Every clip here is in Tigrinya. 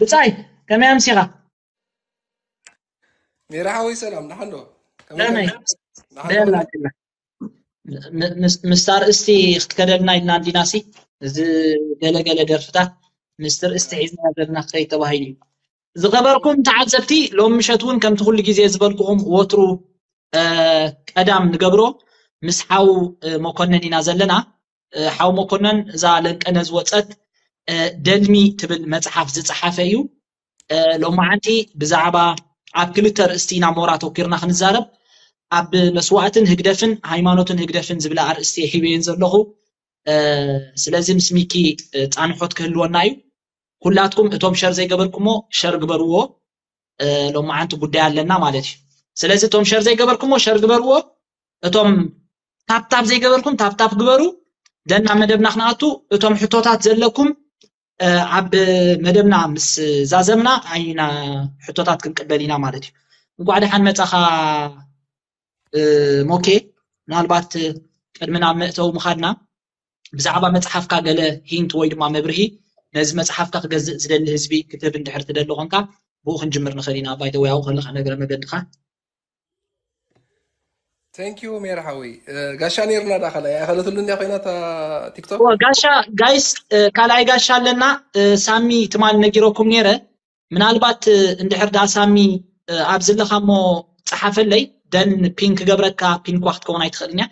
ብጻይ ከመይ ኣምሲኻ? ሜራ ሓወይ ሰላም፣ ደሓን ዶ? ከመይ ደመይ ደሓን ዶ? ደላ ደላ። ም- ምስ- ምስታ ኣርእስቲ ክትከደልና ኢልና እንዲናሲ፣ እዚ ገለገለ ደርፍታት ምስቲ ርእስቲ ሒዝና ዘለና ክኸይድ ተባሂሉ እዩ። ዝኸበርኩም ተዓዘብቲ፣ ሎም ምሸት እውን ከምቲ ኩሉ ግዜ ዝበልኩኹም ወትሩ ቀዳም ንገብሮ ምስ ሓው መኮነን ኢና ዘለና። ሓው መኮነን እዛ ለንቀነ ዝወፀት ደልሚ ትብል መፅሓፍ ዝፀሓፈ እዩ። ሎማዓንቲ ብዛዕባ ኣብ ክልተ ኣርእስቲ ኢና ሞራ ኣተኪርና ክንዛረብ። ኣብ መስዋእትን ህግደፍን ሃይማኖትን ህግደፍን ዝብላ ኣርእስቲ ሒበየን ዘለኹ። ስለዚ ምስ ሚኪ ፃንሖት ክህልወና እዩ። ኩላትኩም እቶም ሸር ዘይገበርኩሞ ሸር ግበርዎ። ሎማዓንቲ ጉዳይ ኣለና ማለት እዩ። ስለዚ እቶም ሸር ዘይገበርኩሞ ሸር ግበርዎ። እቶም ታፕታፕ ዘይገበርኩም ታፕታፕ ግበሩ። ደና መደብና ክንኣቱ እቶም ሕቶታት ዘለኩም ኣብ መደብና ምስ ዛዘምና ኣይና ሕቶታት ክንቅበል ኢና ማለት እዩ። እንኳዕ ደሓን መጻኻ ሞኬ። ምናልባት ቅድሚ ናብ መእተዊ ምኻድና ብዛዕባ መጽሓፍካ ገለ ሂንት ወይ ድማ መብርሂ ነዚ መጽሓፍካ ክገዝእ ዝደሊ ህዝቢ ክትህብ እንድሕር ትደሊ ኮንካ ብኡ ክንጅምር ንኽእል ኢና። ባይተወያው ከለኻ ነገረ መገድኻ Thank you ሜራ ሓወይ። ጋሻ ነይርና ዳ ካልኣይ ኣይኸለትሉ እንዲያ ኮይና እታ ቲክቶክ ጋሻ ጋይስ ካልኣይ ጋሻ ኣለና። ሳሚ ትማል ነጊረኩም ነይረ። ምናልባት እንድሕር ዳ ሳሚ ኣብ ዘለኻ እሞ ጸሓፈለይ ደን ፒንክ ገብረካ ፒንኳ ክትከውን ኣይትኽእልን እያ።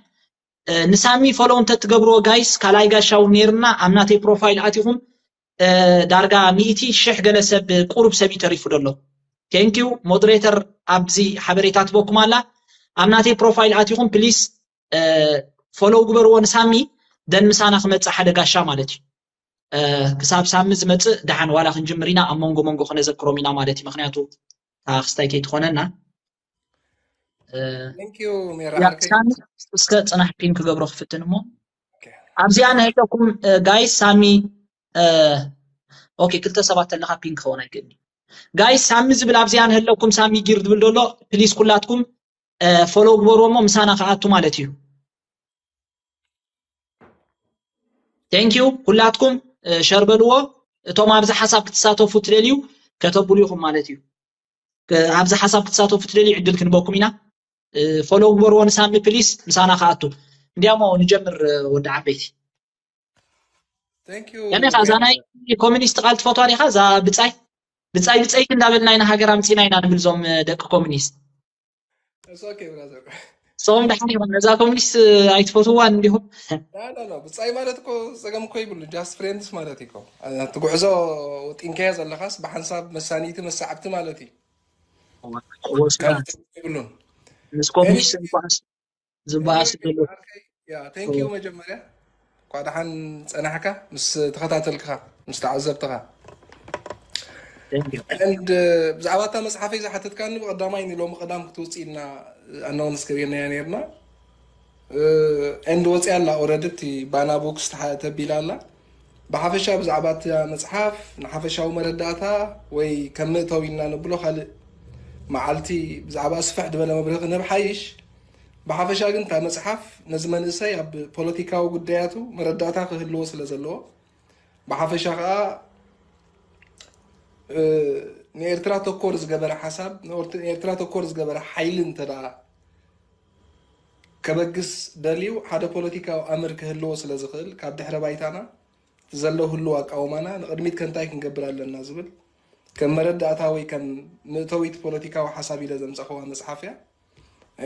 ንሳሚ ፎሎው እንተትገብርዎ ጋይስ ካልኣይ ጋሻ እውን ነይርና ኣብ ናተይ ፕሮፋይል ኣቲኹም ዳርጋ ሚእቲ ሽሕ ገለ ሰብ ቁሩብ ሰብ እዩ ተሪፉ ደሎ። ቴንኪዩ ሞደሬተር ኣብዚ ሓበሬታ ትበኩም ኣላ። ኣብ ናተይ ፕሮፋይል ኣቲኹም ፕሊስ ፎሎው ግበርዎ ንሳሚ ደን ምሳና ክመጽእ ሓደ ጋሻ ማለት እዩ። ክሳብ ሳሚ ዝመጽእ ደሓን ዋላ ክንጅምር ኢና ኣብ መንጎ መንጎ ክነዘክሮም ኢና ማለት እዩ። ምክንያቱ ክስታይ ከይትኾነና ሳሚ እስከ ጽናሕ ፒን ክገብሮ ክፍትን እሞ ኣብዚኣ ንህለኩም ጋይስ ሳሚ ኦኬ ክልተ ሰባት ተለካ ፒን ክኸውን ኣይክእልኒ። ጋይስ ሳሚ ዝብል ኣብዚኣ ንህለኩም ሳሚ ጊር ዝብል ዘሎ ፕሊስ ኩላትኩም ፎሎው ግበርዎ እሞ ምሳና ክኣቱ ማለት እዩ። ቴንኪዩ ኩላትኩም ሸር በልዎ። እቶም ኣብዚ ሓሳብ ክትሳተፉ ትደልዩ ከተብሉ ኢኹም ማለት እዩ። ኣብዚ ሓሳብ ክትሳተፉ ትደልዩ ዕድል ክንበኩም ኢና። ፎሎው ግበርዎ ንሳሚ ፕሊስ ምሳና ክኣቱ። እንዲያሞ ንጀምር ወዲ ዓበይቲ። ከመይ ኻ እዛ ናይ ኮሚኒስት ቃል ትፈትዋ ዲኻ? እዛ ብጻይ ብጻይ ብጸይቲ እንዳበልና ኢና ሃገር ኣምጺና ኢና ንብል ዞም ደቂ ኮሚኒስት። ሶም ደሓን ይኹን ነዛ ኮሚኒስት ኣይትፈትዋን እንዲኹም። ብጻይ ማለት እኮ ጸገም እኮ ይብሉ just friends ማለት እኮ። እቲ ጉዕዞ ወጢንካዮ ዘለኻስ ብሓንሳብ መሳኒቲ መሳዕብቲ ማለት እዩ። ይብሉን ምስ ኮሚኒስት ዝበኣስ ዝበኣስ ዘሎ ቴንኪዩ መጀመርያ እኳ ደሓን ጸናሕካ ምስ ተኸታተልክኻ ምስ ተዓዘብትኻ። And ብዛዕባ እታ መጽሓፈይ ዝሓተትካኒ ብቐዳማይ ንሎሚ ቀዳም ክትውፅእ ኢልና ኣናውንስ ገቢርናያ ነርና። And ወፅያ ኣላ ኦረዲ እቲ ባና ቦክስ ተቢላ ኣላ። ብሓፈሻ ብዛዕባ እታ መፅሓፍ ንሓፈሻዊ መረዳእታ ወይ ከም ምእተው ኢልና ነብሎ ካልእ መዓልቲ ብዛዕባ ስፍሕ ዝበለ መብርሂ ክንህብ ሓይሽ። ብሓፈሻ ግን እታ መፅሓፍ ነዚ መንእሰይ ኣብ ፖለቲካዊ ጉዳያቱ መረዳእታ ክህልዎ ስለ ዘለዎ ብሓፈሻ ከዓ ንኤርትራ ተኮር ዝገበረ ሓሳብ ንኤርትራ ተኮር ዝገበረ ሓይሊ እንተ ከበግስ ደልዩ ሓደ ፖለቲካዊ ኣምር ክህልዎ ስለ ዝኽእል ካብ ድሕረ ባይታና ዘሎ ህልው ኣቃውማና ንቕድሚት ከንታይ ክንገብር ኣለና ዝብል ከም መረዳእታ ወይ ከም ምእተዊት ፖለቲካዊ ሓሳብ ኢለ ዘምፀኸዋ መፅሓፍ እያ።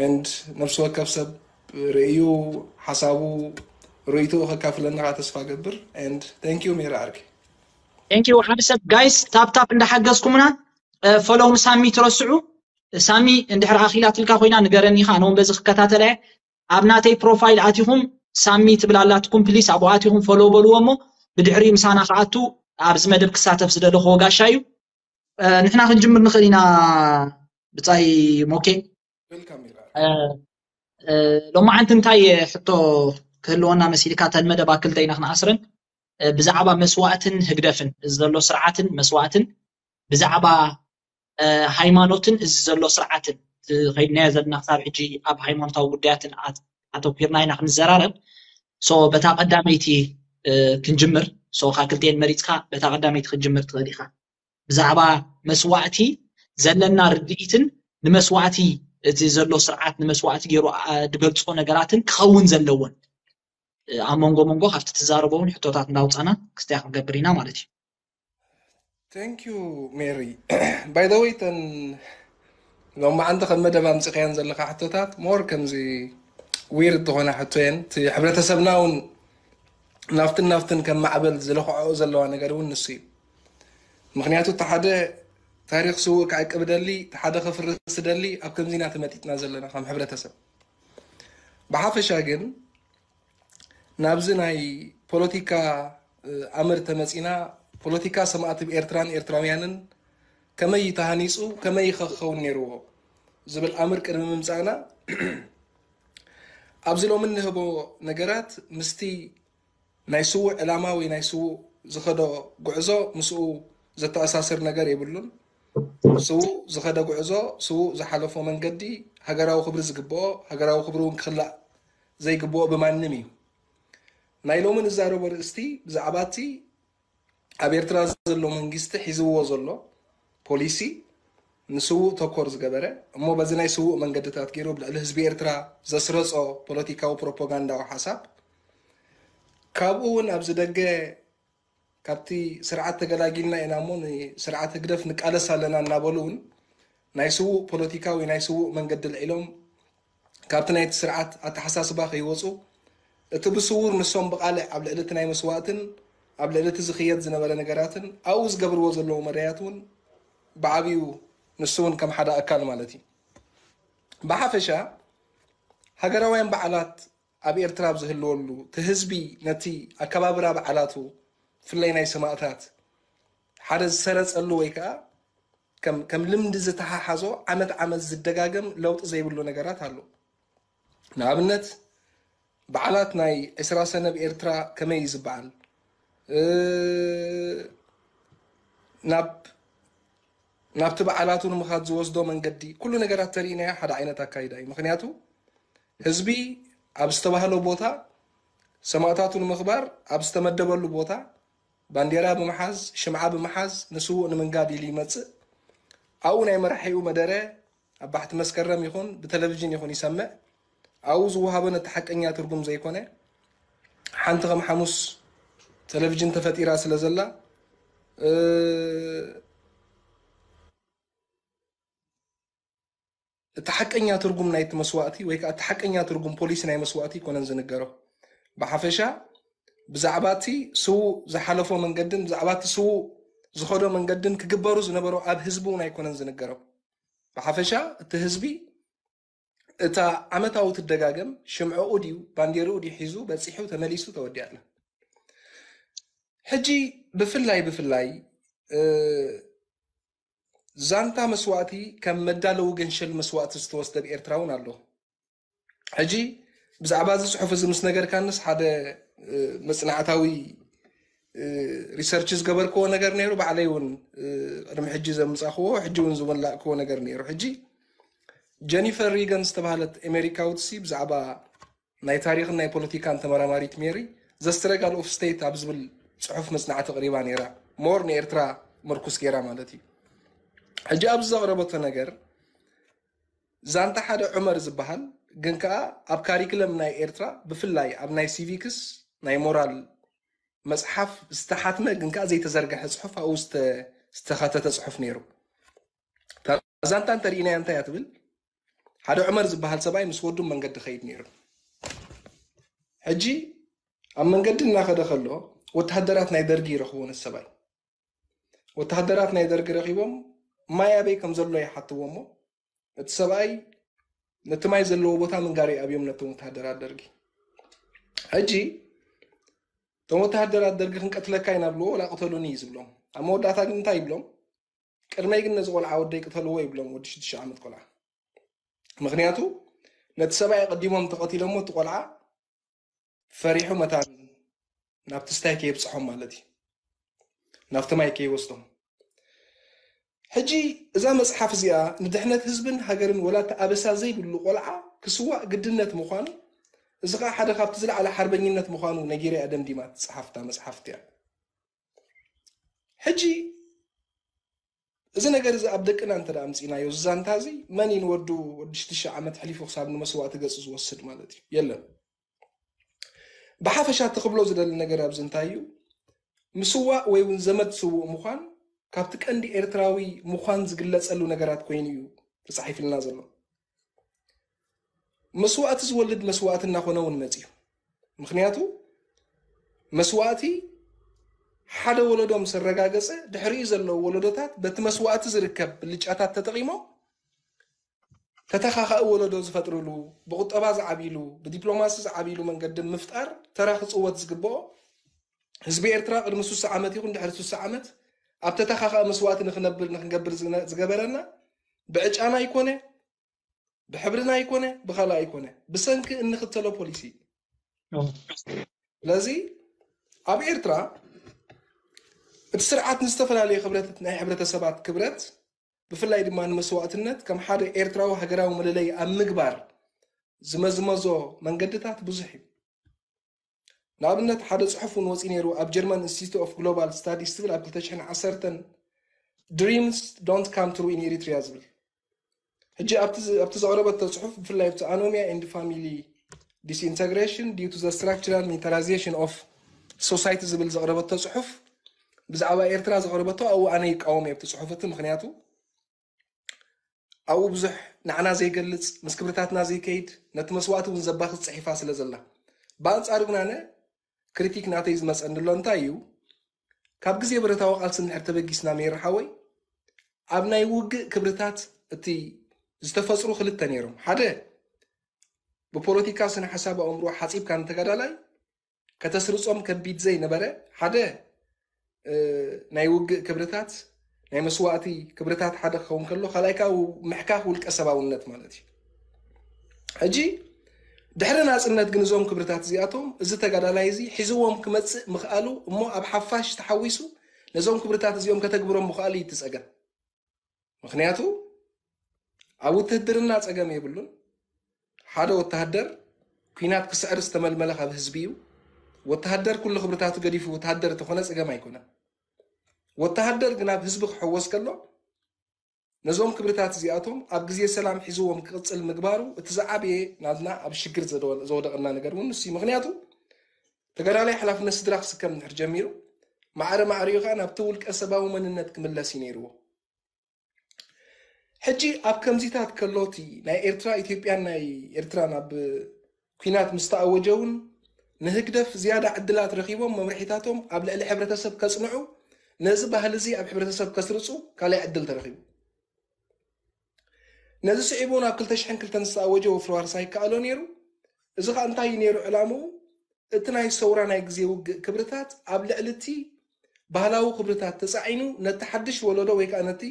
And ነፍሲ ወከፍ ሰብ ርእዩ ሓሳቡ ርእይትኡ ከካፍለና ከዓ ተስፋ ገብር። And thank you ሜራ ዓርከይ። Thank you ሓደ ሰብ ጋይስ ታፕታፕ እንዳሓገዝኩምና ፎሎው ንሳሚ ትረስዑ። ሳሚ እንድሕር ኣኺላትልካ ኮይና ንገረኒ ኢኻ ኣነ እውን በዚ ክከታተለ እየ። ኣብ ናተይ ፕሮፋይል ኣቲኹም ሳሚ ትብል ኣላትኩም ፕሊስ ኣብኡ ኣቲኹም ፎሎው በልዎ እሞ ብድሕሪኡ ምሳና ክኣቱ ኣብዚ መደብ ክሳተፍ ዝደለኹዎ ጋሻ እዩ። ንሕና ክንጅምር ንኽእል ኢና። ብጻይ ሞኬ ሎማዓንቲ እንታይ ሕቶ ክህልወና መሲልካ? ተን መደብ ኣብ ክልተ ኢና ክንኣስረን። ብዛዕባ መስዋእትን ህግደፍን እዚ ዘሎ ስርዓትን መስዋእትን ብዛዕባ ሃይማኖትን እዚ ዘሎ ስርዓትን ከይድናዮ ዘለና ክሳብ ሕጂ ኣብ ሃይማኖታዊ ጉዳያትን ኣተኪርና ኢና ክንዘራረብ። ሶ በታ ቀዳመይቲ ክንጅምር። ሶ ካብ ክልተን መሪፅካ በታ ቀዳመይቲ ክንጅምር ትኽእል ኢኻ። ብዛዕባ መስዋእቲ ዘለና ርድኢትን ንመስዋእቲ፣ እቲ ዘሎ ስርዓት ንመስዋእቲ ገይሩ ዝገልፆ ነገራትን ክኸውን ዘለዎን ኣብ መንጎ መንጎ ካብቲ ትዛረቦ እውን ሕቶታት እንዳውፃና ክስትያ ክንገብር ኢና ማለት እዩ። Thank you, Mary. By the way, ተን ሎማዓንቲ ከም መደብ ኣምፂኻየን ዘለካ ሕቶታት ሞር ከምዚ ዊርድ ዝኾነ ሕቶ የን። እቲ ሕብረተሰብና እውን ናብትን ናብትን ከም ማዕበል ዝለኽዖ ዘለዋ ነገር እውን ንሱ እዩ። ምክንያቱ እቲ ሓደ ታሪክ ስውእ ክዕቅብ ደሊ፣ እቲ ሓደ ከፍርስ ደሊ፣ ኣብ ከምዚና ተመጢጥና ዘለና ከም ሕብረተሰብ። ብሓፈሻ ግን ናብዚ ናይ ፖለቲካ ኣምር ተመፂና፣ ፖለቲካ ሰማእቲ ኤርትራን ኤርትራውያንን ከመይ ተሃኒፁ፣ ከመይ ክኸውን ነይርዎ ዝብል ኣምር ቅድሚ ምምፃእና ኣብዚ ሎሚ እንህቦ ነገራት ምስቲ ናይ ስዉእ ዕላማ ወይ ናይ ስዉእ ዝኸዶ ጉዕዞ ምስኡ ዘተኣሳስር ነገር የብሉን። ስዉእ ዝኸደ ጉዕዞ፣ ስዉእ ዝሓለፎ መንገዲ ሃገራዊ ክብሪ ዝግብኦ፣ ሃገራዊ ክብሪ እውን ክኽላእ ዘይግብኦ ብማንም እዩ። ናይ ሎሚ ንዛረቦ ርእስቲ ብዛዕባ እቲ ኣብ ኤርትራ ዘሎ መንግስቲ ሒዝዎ ዘሎ ፖሊሲ ንስዉእ ተኮር ዝገበረ እሞ በዚ ናይ ስዉእ መንገድታት ገይሩ ኣብ ልዕሊ ህዝቢ ኤርትራ ዘስረጾ ፖለቲካዊ ፕሮፓጋንዳዊ ሓሳብ ካብኡ እውን ኣብዚ ደገ ካብቲ ስርዓት ተገላጊልና ኢና እሞ ንስርዓት ህግደፍ ንቃለስ ኣለና እናበሉ እውን ናይ ስዉእ ፖለቲካዊ ናይ ስዉእ መንገዲ ልዒሎም ካብቲ ናይቲ ስርዓት ኣተሓሳስባ ከይወፁ እቲ ብስውር ንሶም ብቃልዕ ኣብ ልዕሊ እቲ ናይ መስዋእትን ኣብ ልዕሊ እቲ ዝኽየድ ዝነበረ ነገራትን ኣብኡ ዝገብርዎ ዘለዉ መዳያት እውን ብዓብኡ ንሱ እውን ከም ሓደ ኣካል ማለት እዩ። ብሓፈሻ ሃገራውያን በዓላት ኣብ ኤርትራ ኣብ ዝህልወሉ እቲ ህዝቢ ነቲ ኣከባብራ በዓላቱ ብፍላይ ናይ ሰማእታት ሓደ ዝሰረጸሉ ወይ ከዓ ከም ከም ልምዲ ዝተሓሓዞ ዓመት ዓመት ዝደጋገም ለውጢ ዘይብሉ ነገራት ኣሎ። ንኣብነት በዓላት ናይ ዕስራ ሰነ ኣብ ኤርትራ ከመይ እዩ ዝበዓል? እ፣ ናብ ናብቲ በዓላቱ ንምኻድ ዝወስዶ መንገዲ ኩሉ ነገራት ተሪእናዮ ሓደ ዓይነት ኣካይዳ እዩ። ምክንያቱ ህዝቢ ኣብ ዝተባህሎ ቦታ ሰማእታቱ ንምኽባር ኣብ ዝተመደበሉ ቦታ ባንዴራ ብምሓዝ ሽምዓ ብምሓዝ ንስዉእ ንምንጋድ ኢሉ ይመፅእ። ኣብኡ ናይ መራሒኡ መደረ ኣብ ባሕቲ መስከረም ይኹን ብቴሌቪዥን ይኹን ይሰምዕ። ኣብኡ ዝወሃቦ ነቲ ሓቀኛ ትርጉም ዘይኮነ ሓንቲ ከም ሓሙስ ቴሌቪዥን ተፈጢራ ስለ ዘላ እ፣ እቲ ሓቀኛ ትርጉም ናይቲ መስዋእቲ ወይ ከዓ እቲ ሓቀኛ ትርጉም ፖሊሲ ናይ መስዋእቲ ኣይኮነን ዝንገሮ። ብሓፈሻ ብዛዕባ እቲ ስዉእ ዝሓለፎ መንገድን ብዛዕባ እቲ ስዉእ ዝኸዶ መንገድን ክግበሩ ዝነበሮ ኣብ ህዝቢ እውን ኣይኮነን ዝንገሮ። ብሓፈሻ እቲ ህዝቢ እታ ዓመታዊ ትደጋገም ሽምዕኡ ድዩ ባንዴርኡ ድዩ ሒዙ በፂሑ ተመሊሱ ተወዲኣላ። ሕጂ ብፍላይ ብፍላይ እ፣ ዛንታ መስዋእቲ ከም መዳለዊ ገንሸል መስዋእቲ ዝተወስደ ኣብ ኤርትራ እውን ኣሎ። ሕጂ ብዛዕባ እዚ ፅሑፍ እዚ ምስ ነገርካንስ ሓደ እ፣ መፅናዕታዊ እ፣ ሪሰርች ዝገበርክዎ ነገር ነይሩ። ባዕለይ እውን እ፣ ቅድሚ ሕጂ ዘምፃኽዎ ሕጂ እውን ዝመላእክዎ ነገር ነይሩ። ሕጂ ጀኒፈር ሪገን ዝተባህለት ኣሜሪካዊት ሲ ብዛዕባ ናይ ታሪኽን ናይ ፖለቲካን ተመራማሪት ሜሪ ዘ ስትረጋል ኦፍ ስቴት ኣብ ዝብል ፅሑፍ መፅናዕቲ ኣቕሪባ ነይራ። ሞር ንኤርትራ ምርኩስ ገይራ ማለት እዩ። ሕጂ ኣብዚ ዘቕረበቶ ነገር ዛንታ ሓደ ዑመር ዝበሃል ግን ከኣ ኣብ ካሪክለም ናይ ኤርትራ ብፍላይ ኣብ ናይ ሲቪክስ ናይ ሞራል መጽሓፍ ዝተሓትመ ግን ከኣ ዘይተዘርግሐ ጽሑፍ ኣብኡ ዝተ- ዝተኻተተ ጽሑፍ ነይሩ። እታ ዛንታ እንተርኢናያ እንታይ እያ ትብል? ሓደ ዑመር ዝበሃል ሰብኣይ ምስ ወዱ መንገዲ ኸይድ ነይሩ። ሕጂ ኣብ መንገዲ እናኸደ ከሎ ወተሃደራት ናይ ደርጊ ይረኽብዎ ነቲ ሰብኣይ። ወተሃደራት ናይ ደርጊ ረኺቦም ማይ ኣበይ ከም ዘሎ ይሓትዎ እሞ እቲ ሰብኣይ ነቲ ማይ ዘለዎ ቦታ ምንጋር ይኣብዮም ነቶም ወተሃደራት ደርጊ። ሕጂ እቶም ወተሃደራት ደርጊ ክንቀትለካ ኢና ብልዎ ወላ ቅተሉኒ እዩ ዝብሎም። ኣብ መወዳእታ ግን እንታይ ይብሎም? ቅድመይ ግን ነዚ ቆልዓ ወደይ ቅተልዎ ይብሎም፣ ወዲ ሽዱሽተ ዓመት ቆልዓ። ምክንያቱ ነቲ ሰብኣይ ኣቐዲሞም ተቐቲሎሞ እቲ ቆልዓ ፈሪሑ መታን ናብቲ ስታይ ከየብፅሖም ማለት እዩ፣ ናብቲ ማይ ከይወስዶም። ሕጂ እዛ መፅሓፍ እዚኣ ንድሕነት ህዝብን ሃገርን ወላ እቲ ኣበሳ ዘይብሉ ቆልዓ ክስዋእ ግድነት ምዃኑ፣ እዚ ከዓ ሓደ ካብቲ ዝለዓለ ሓርበኝነት ምዃኑ ነጊራ እያ ደምዲማ ትፅሓፍታ መፅሓፍቲ እያ። ሕጂ እዚ ነገር እዚ ኣብ ደቅና እንተ ኣምፂናዮ፣ እዚ ዛንታ እዚ መን እዩ ንወዱ ወዲ ሽዱሽተ ዓመት ሕሊፉ ክሳብ ንመስዋእቲ ገፁ ዝወስድ ማለት እዩ? የለን። ብሓፈሻ እቲ ክብሎ ዝደሊ ነገር ኣብዚ እንታይ እዩ? ምስዋእ ወይ እውን ዘመድ ስዉእ ምዃን ካብቲ ቀንዲ ኤርትራዊ ምዃን ዝግለጸሉ ነገራት ኮይኑ እዩ ተጻሒፍልና ዘሎ። መስዋእቲ ዝወልድ መስዋእቲ እናኾነ እውን መጺኡ። ምኽንያቱ መስዋእቲ ሓደ ወለዶ ምስ ኣረጋገጸ፣ ድሕሪኡ ዘለዉ ወለዶታት በቲ መስዋእቲ ዝርከብ ብልጫታት ተጠቒሞም ተተኻኻኢ ወለዶ ዝፈጥርሉ፣ ብቁጠባ ዝዓብይሉ፣ ብዲፕሎማሲ ዝዓብይሉ መንገዲ ምፍጣር ተራ ክጽወት ዝግብኦ፣ ህዝቢ ኤርትራ ቅድሚ ስሳ ዓመት ይኹን ድሕሪ ስሳ ዓመት ኣብ ተተኻኻኢ መስዋእቲ ንኽነብር ንኽንገብር ዝነ- ዝገበረና ብዕጫና ኣይኮነ፣ ብሕብርና ኣይኮነ፣ ብኻልእ ኣይኮነ፣ ብሰንኪ እንኽተሎ ፖሊሲ። ስለዚ ኣብ ኤርትራ እቲ ስርዓት ንዝተፈላለየ ክብረት ናይ ሕብረተሰባት ክብረት ብፍላይ ድማ ንመስዋእትነት ከም ሓደ ኤርትራዊ ሃገራዊ መለለይ ኣብ ምግባር ዝመዝመዞ መንገድታት ብዙሕ እዩ። ንኣብነት ሓደ ጽሑፍ እውን ወፂኡ ነይሩ ኣብ ጀርመን ኢንስቲትዩት ኦፍ ግሎባል ስታዲስ ዝብል ኣብ ክልተ ሽሕን ዓሰርተን Dreams don't come true in Eritrea ዝብል። ሕጂ ኣብቲ ዝ- ኣብቲ ዘቕረበቶ ጽሑፍ ብፍላይ ኣብቲ ኣኖሚያ and family disintegration due to the structural militarization of society ዝብል ዘቕረበቶ ጽሑፍ ብዛዕባ ኤርትራ ዘቕረበቶ ኣብኡ ኣነ ይቃወም እየ ኣብቲ ጽሑፍ እቲ ምኽንያቱ ኣብኡ ብዙሕ ንዓና ዘይገልጽ ምስ ክብርታትና ዘይከይድ ነቲ መስዋእቲ እውን ዘባኽስ ጽሒፋ ስለ ዘላ ብኣንጻሩ ግን ኣነ ክሪቲክ ናተይ ዝመጸኒ ኣሎ እንታይ እዩ ካብ ግዜ ብረታዊ ቃልሲ እንድሕር ተበጊስና ሜር ሓወይ ኣብ ናይ ውግእ ክብርታት እቲ ዝተፈጥሩ ክልተ ነይሮም ሓደ ብፖለቲካ ስነ ሓሳብ ኣእምሮ ሓፂብካ ንተጋዳላይ ከተስርፆም ከቢድ ዘይነበረ ሓደ ናይ ውግእ ክብርታት ናይ መስዋእቲ ክብርታት ሓደ ክኸውን ከሎ ካልኣይ ከዓ ምሕካኽ ውልቀ ሰባውነት ማለት እዩ ሕጂ ድሕሪ ናፅነት ግን እዞም ክብርታት እዚኣቶም እዚ ተጋዳላይ እዚ ሒዝዎም ክመፅእ ምኽኣሉ እሞ ኣብ ሓፋሽ ተሓዊሱ ነዞም ክብርታት እዚኦም ከተግብሮም ምኽኣሉ እዩ እቲ ፀገም ምኽንያቱ ኣብ ውትህድርና ፀገም የብሉን ሓደ ወተሃደር ኲናት ክስዕር ዝተመልመለ ካብ ህዝቢ እዩ ወተሃደር ኩሉ ክብርታቱ ገዲፉ ወተሃደር እንተኾነ ፀገም ኣይኮነን ወተሃደር ግን ኣብ ህዝቢ ክሕወስ ከሎ ነዞም ክብርታት እዚኣቶም ኣብ ግዜ ሰላም ሒዝዎም ክቕፅል ምግባሩ እቲ ዝዓበየ ናትና ኣብ ሽግር ዘወደቐና ነገር እውን ንሱ ምክንያቱ ተጋዳላይ ሓላፍነት ስድራ ክስከም እንድሕር ጀሚሩ ማዕረ ማዕሪኡ ከዓ ናብቲ ውልቀ ሰባዊ መንነት ክምለስ እዩ ነይርዎ ሕጂ ኣብ ከምዚታት ከሎቲ ናይ ኤርትራ ኢትዮጵያን ናይ ኤርትራን ኣብ ኲናት ምስ ተኣወጀ እውን ንህግደፍ ዝያዳ ዕድላት ረኺቦም መምርሒታቶም ኣብ ልዕሊ ሕብረተሰብ ከጽንዑ ነዚ ባህሊ እዚ ኣብ ሕብረተሰብ ከስርጹ ካልኣይ ዕድል ተረኺቡ። ነዚ ስዒቡ ናብ ክልተ ሽሕን ክልተን ዝተኣወጀ ወፍሪ ዋርሳይ ይከኣሎ ነይሩ። እዚ ኸኣ እንታይ እዩ ነይሩ ዕላምኡ? እቲ ናይ ሰውራ ናይ ግዜ ውግእ ክብርታት ኣብ ልዕሊ እቲ ባህላዊ ክብርታት ተጻዒኑ ነቲ ሓድሽ ወለዶ ወይ ከኣ ነቲ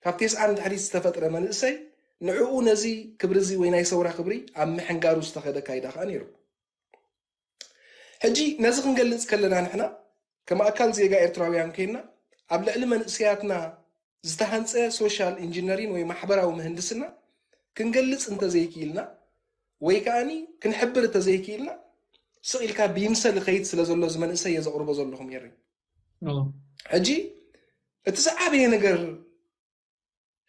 ካብ ቴስዓ ንድሕሪት ዝተፈጥረ መንእሰይ ንዕኡ ነዚ ክብሪ እዚ ወይ ናይ ሰውራ ክብሪ ኣብ ምሕንጋሩ ዝተኸደ ኣካይዳ ከኣ ነይሩ። ሕጂ ነዚ ክንገልጽ ከለና ንሕና ከም ኣካል ዜጋ ኤርትራውያን ኮይንና ኣብ ልዕሊ መንእሰያትና ዝተሃንጸ ሶሻል ኢንጂነሪን ወይ ማሕበራዊ ምህንድስና ክንገልጽ እንተዘይክኢልና ወይ ከኣኒ ክንሕብር እንተዘይክኢልና ስቕ ኢልካ ብይምሰል ይኸይድ ስለ ዘሎ እዚ መንእሰይ እየ ዘቕርቦ ዘለኹ ሜሪ። ሕጂ እቲ ዝዓበየ ነገር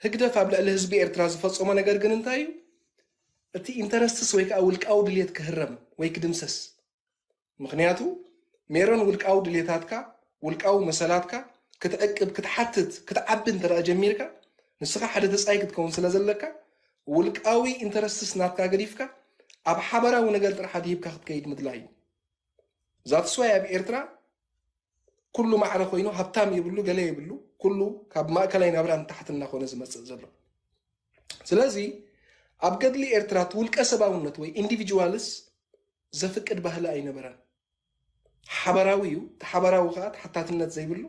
ህግደፍ ኣብ ልዕሊ ህዝቢ ኤርትራ ዝፈጸሞ ነገር ግን እንታይ እዩ? እቲ ኢንተረስትስ ወይ ከዓ ውልቃዊ ድልየት ክህረም ወይ ክድምሰስ። ምኽንያቱ ሜሮን ውልቃዊ ድልየታትካ፣ ውልቃዊ መሰላትካ ክትዕቅብ፣ ክትሓትት፣ ክትዓቢ እንተ ደኣ ጀሚርካ ንስኻ ሓደ ተጻይ ክትከውን ስለ ዘለካ ውልቃዊ ኢንተረስትስ ናትካ ገዲፍካ ኣብ ሓበራዊ ነገር ጥራሕ ኣድሂብካ ክትከይድ ምድላይ እዩ። ዛትስዋይ ኣብ ኤርትራ ኩሉ ማዕረ ኮይኑ ሃብታም የብሉ ገለ የብሉ ኩሉ ካብ ማእከላይ ናብራ ንታሕቲ እናኾነ ዝመፅእ ዘሎ ስለዚ ኣብ ገድሊ ኤርትራ እቲ ውልቀ ሰባውነት ወይ ኢንዲቪጅዋልስ ዘፍቅድ ባህሊ ኣይነበረን ሓበራዊ እዩ እቲ ሓበራዊ ከዓ ተሓታትነት ዘይብሉ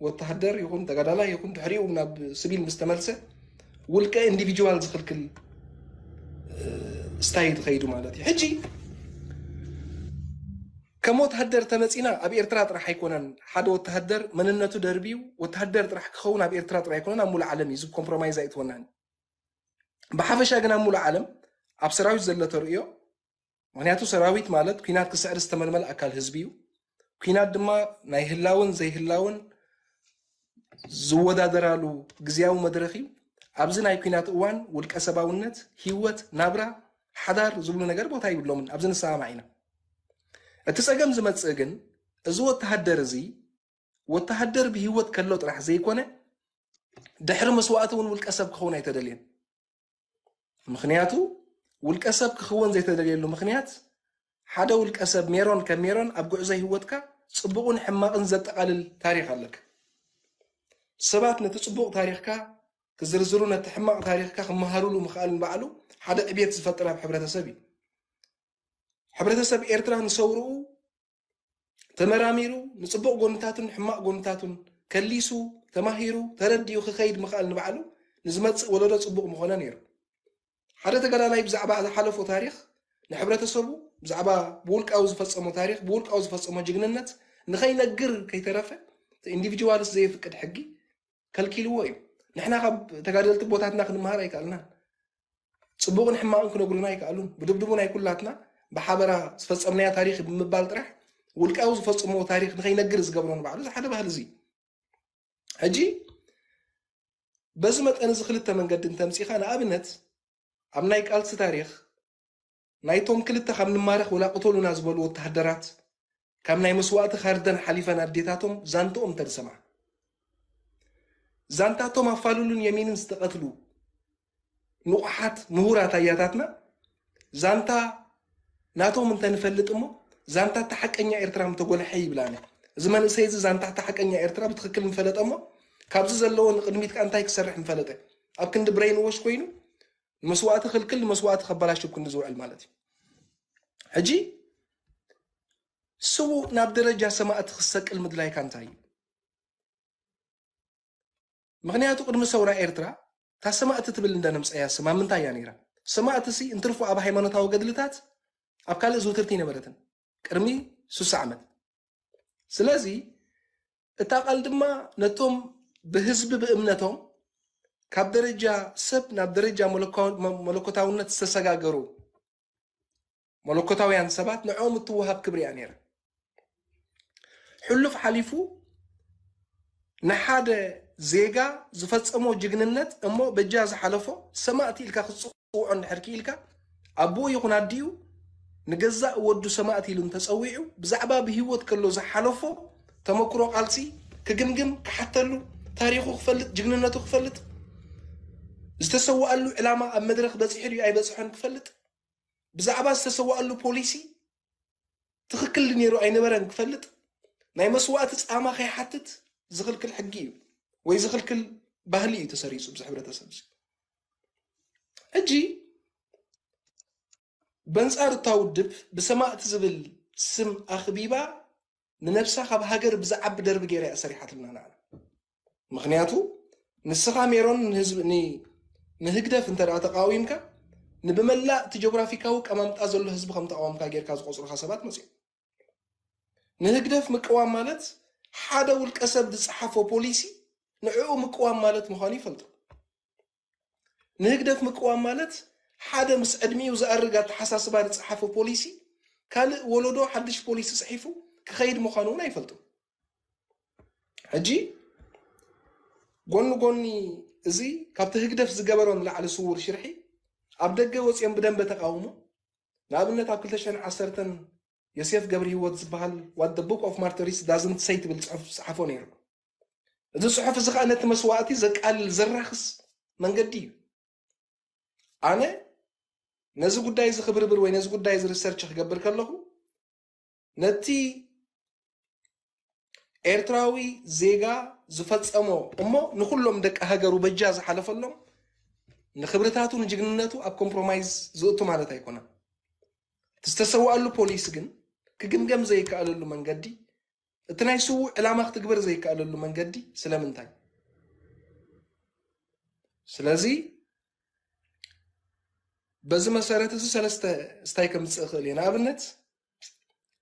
ወተሃደር ይኹን ተጋዳላይ ይኹን ድሕሪኡ ናብ ስቢል ምስ ተመልሰ ውልቀ ኢንዲቪጅዋል ዝኽልክል ስታይል ትኸይዱ ማለት እዩ ሕጂ ከም ወተሃደር ተመፂና ኣብ ኤርትራ ጥራሕ ኣይኮነን ሓደ ወተሃደር መንነቱ ደርብዩ ወተሃደር ጥራሕ ክኸውን ኣብ ኤርትራ ጥራሕ ኣይኮነን ኣብ ሙሉእ ዓለም እዩ እዚ ኮምፕሮማይዝ ኣይትወናን ብሓፈሻ ግን ኣብ ሙሉእ ዓለም ኣብ ሰራዊት ዘሎ ተርእዮ ምክንያቱ ሰራዊት ማለት ኲናት ክስዕር ዝተመልመል ኣካል ህዝቢ እዩ ኲናት ድማ ናይ ህላውን ዘይህላውን ዝወዳደራሉ ግዝያዊ መድረኽ እዩ። ኣብዚ ናይ ኲናት እዋን ውልቀ ሰባውነት፣ ህይወት፣ ናብራ፣ ሓዳር ዝብሉ ነገር ቦታ ይብሎምን። ኣብዚ ንሰማማዕ ኢና። እቲ ጸገም ዝመጽእ ግን እዚ ወተሃደር እዚ ወተሃደር ብህይወት ከሎ ጥራሕ ዘይኮነ ድሕሪ መስዋእቲ እውን ውልቀ ሰብ ክኸውን ኣይተደልየን። ምኽንያቱ ውልቀ ሰብ ክኽወን ዘይተደልየሉ ምኽንያት ሓደ ውልቀ ሰብ ሜሮን ከም ሜሮን ኣብ ጉዕዞ ህይወትካ ጽቡቕን ሕማቕን ዘጠቓልል ታሪኽ ኣለካ። ሰባት ነቲ ጽቡቕ ታሪኽካ ክዝርዝሩ ነቲ ሕማቕ ታሪኽካ ክመሃሩሉ ምኽኣል ንባዕሉ ሓደ ዕብየት ዝፈጥር ኣብ ሕብረተሰብ እዩ። ሕብረተሰብ ኤርትራ ንሰውርኡ ተመራሚሩ ንጽቡቕ ጎንታቱን ሕማቕ ጎንታቱን ከሊሱ ተማሂሩ ተረዲኡ ክኸይድ ምኽኣል ንባዕሉ ንዝመጽእ ወለዶ ጽቡቕ ምኾነ ነይሩ። ሓደ ተጋዳላይ ብዛዕባ ዝሓለፎ ታሪኽ ንሕብረተሰቡ ብዛዕባ ብውልቃዊ ዝፈጸሞ ታሪኽ ብውልቃዊ ዝፈጸሞ ጅግንነት ንኸይነግር ከይተረፈ ኢንዲቪጁዋልስ ዘየፍቅድ ሕጊ ከልኪልዎ እዩ። ንሕና ካብ ተጋደልቲ ቦታትና ክንመሃር ኣይከኣልናን። ጽቡቕን ሕማቕን ክነግሩና ኣይከኣሉን። ብድብድቡ ናይ ኩላትና ብሓበራ ዝፈጸምናዮ ታሪኽ ብምባል ጥራሕ ውልቃዊ ዝፈጽምዎ ታሪኽ ንኸይነግር ዝገብሮ ንባዕሉ እዚ ሓደ ባህሊ እዚ። ሕጂ በዚ መጠን እዚ ክልተ መንገዲ እንተምጺኻ ንኣብነት ኣብ ናይ ቃልሲ ታሪኽ ናይቶም ክልተ ካብ ንማረኽ ወላ ቅተሉና ዝበሉ ወተሃደራት ካብ ናይ መስዋእቲ ካርደን ሓሊፈን ኣዴታቶም ዛንትኦም እንተዝሰምዓ ዛንታቶም ኣፋልሉን የሚንን ዝተቐትሉ ንቑሓት ምሁራት ኣያታትና ዛንታ ናቶም እንተንፈልጥ እሞ ዛንታ እታ ሓቀኛ ኤርትራ ምተጎልሐ ይብላነ። እዚ መንእሰይ እዚ ዛንታ እታ ሓቀኛ ኤርትራ ብትኽክል ምፈለጠ እሞ ካብዚ ዘለዎ ንቕድሚት ከኣ እንታይ ክሰርሕ ምፈለጠ። ኣብ ክንዲ ብሬን ዎሽ ኮይኑ ንመስዋእቲ ክልክል ንመስዋእቲ ከበላሽው ክንዲ ዝውዕል ማለት እዩ። ሕጂ ስዉእ ናብ ደረጃ ሰማእቲ ክሰቅል ምድላይካ እንታይ እዩ? ምኽንያቱ ቅድሚ ሰውራ ኤርትራ እታ ሰማእቲ ትብል እንደነምፀያ ስማ ምንታይ እያ ነይራ? ሰማእቲ ሲ እንትርፎ ኣብ ሃይማኖታዊ ገድልታት ኣብ ካልእ ዝውትርቲ ነበረትን ቅድሚ ስሳ ዓመት። ስለዚ እታ ቃል ድማ ነቶም ብህዝቢ ብእምነቶም ካብ ደረጃ ሰብ ናብ ደረጃ መለኮታውነት ዝተሰጋገሩ መለኮታውያን ሰባት ንዕኦም እትወሃብ ክብሪ እያ ነይራ። ሕሉፍ ሓሊፉ ንሓደ ዜጋ ዝፈጸሞ ጅግንነት እሞ በጃ ዝሓለፎ ሰማእቲ ኢልካ ክትጽውዖ እንድሕር ክኢልካ ኣቦኡ ይኹን ኣዲኡ ንገዛእ ወዱ ሰማእቲ ኢሉ እንተጸዊዑ ብዛዕባ ብህይወት ከሎ ዝሓለፎ ተመክሮ ቃልሲ ክግምግም ክሓተሉ ታሪኹ ክፈልጥ ጅግንነቱ ክፈልጥ ዝተሰዋኣሉ ዕላማ ኣብ መድረኽ በጺሑ ድዩ ኣይበጽሖን ክፈልጥ ብዛዕባ ዝተሰዋኣሉ ፖሊሲ ትኽክል ነይሩ ኣይነበረን ክፈልጥ ናይ መስዋእቲ ጻማ ከይሓትት ዝኽልክል ሕጊ እዩ ወይ ዝኽልክል ባህሊ እዩ ተሰሪጹ ብዚ ሕብረተሰብ እዚ። ሕጂ በንጻር እታ ውድብ ብሰማእቲ ዝብል ስም ኣኽቢባ ንነብሳ ካብ ሃገር ብዝዓቢ ደርቢ ገይራ እያ ሰሪሓትልና ንዓና። ምኽንያቱ ንስኻ ሜሮን ንህዝብ ንህግደፍ እንተ ተቃዊምካ ንብመላእ እቲ ጆግራፊካዊ ቀማምጣ ዘሎ ህዝቢ ከም ተቃወምካ ጌርካ ዝቆጽሩካ ሰባት መጽኦም። ንህግደፍ ምቅዋም ማለት ሓደ ውልቀ ሰብ ዝጸሓፎ ፖሊሲ ንዕኡ ምቅዋም ማለት ምዃኑ ይፈልጡ። ንህግደፍ ምቅዋም ማለት ሓደ ምስ ዕድሚኡ ዝኣርግ ኣተሓሳስባ ዝጸሓፎ ፖሊሲ ካልእ ወለዶ ሓድሽ ፖሊሲ ጽሒፉ ክኸይድ ምዃኑ እውን ኣይፈልጡ። ሕጂ ጎኒ ጎኒ እዚ ካብቲ ህግደፍ ዝገበሮ ንላዕሊ ስውር ሽርሒ ኣብ ደገ ወፂኦም ብደንበ ተቃውሞ ንኣብነት ኣብ ክልተ ሽሕን ዓሰርተን ዮሴፍ ገብረ ህይወት ዝበሃል What the Book of Martyrs Doesn't Say ትብል ፅሑፍ ዝፀሓፎ ነይሩ። እዚ ፅሑፍ እዚ ከዓ ነቲ መስዋእቲ ዘቃልል ዘራኽስ መንገዲ እዩ። ኣነ ነዚ ጉዳይ እዚ ክብርብር ወይ ነዚ ጉዳይ እዚ ሪሰርች ክገብር ከለኹ ነቲ ኤርትራዊ ዜጋ ዝፈጸሞ እሞ ንኹሎም ደቂ ሃገሩ በጃ ዝሓለፈሎም ንክብርታቱ ንጅግንነቱ ኣብ ኮምፕሮማይዝ ዝእቱ ማለት ኣይኮነን። እቲ ዝተሰዋኣሉ ፖሊሲ ግን ክግምገም ዘይከኣለሉ መንገዲ እቲ ናይ ስዉእ ዕላማ ክትግበር ዘይከኣለሉ መንገዲ ስለምንታይ? ስለዚ በዚ መሰረት እዚ ሰለስተ ስታይ ከምፅእ እኽእል እየ። ንኣብነት